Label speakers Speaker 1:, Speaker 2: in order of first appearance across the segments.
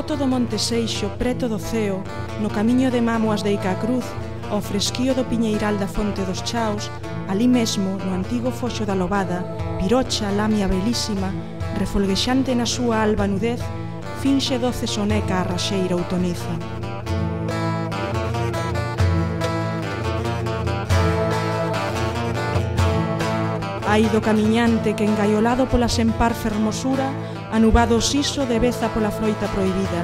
Speaker 1: coto do Monte Seixo, preto do ceo, no camiño de Mámoas de Icacruz, ao fresquío do piñeiral da Fonte dos Chaos, ali mesmo, no antigo foxo da Lobada, Pirocha, lamia belísima, refolguexante na súa alba nudez, finxe doce soneca a raxeira outoniza. Ai do camiñante que, engaiolado pola sempar fermosura, anubado o siso de beza pola froita proibida,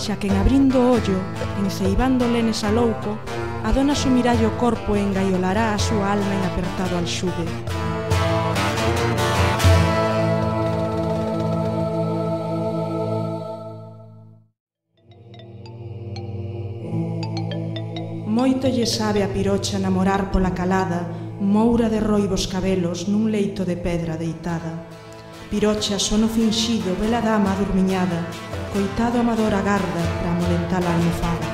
Speaker 1: xa que en abrindo o ollo, enceibando lenes a louco, a dona sumirá o corpo e engaiolará a súa alma en apertado alxugue. Moito lle sabe a Pirocha namorar pola calada, moura de roibos cabelos nun leito de pedra deitada. Pirocha, sono finxido, bela dama adurmiñada, coitado amador agarda para amolentar a almofada.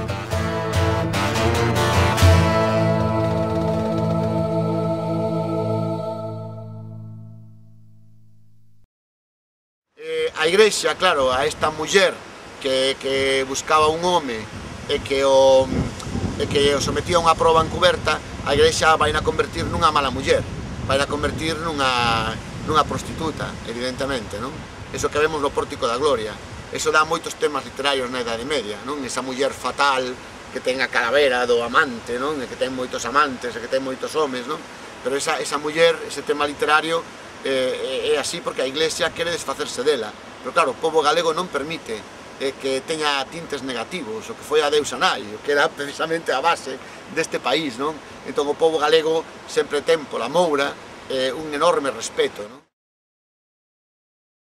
Speaker 2: A Igrexa, claro, a esta muller que buscaba un home e que o sometía a unha proba encuberta, a Igrexa vai na convertir nunha mala muller, vai na convertir nunha prostituta, evidentemente, non? Eso que vemos no Pórtico da Gloria, eso dá moitos temas literarios na Idade Media, non? Esa muller fatal que ten a calavera do amante, non? E que ten moitos amantes, e que ten moitos homes, non? Pero esa muller, ese tema literario, é así porque a Iglesia quere desfacerse dela, pero claro, o pobo galego non permite que teña tintes negativos, o que foi a deusa nai, o que era precisamente a base deste país, non? Entón o pobo galego sempre ten pola moura un enorme respeto, non?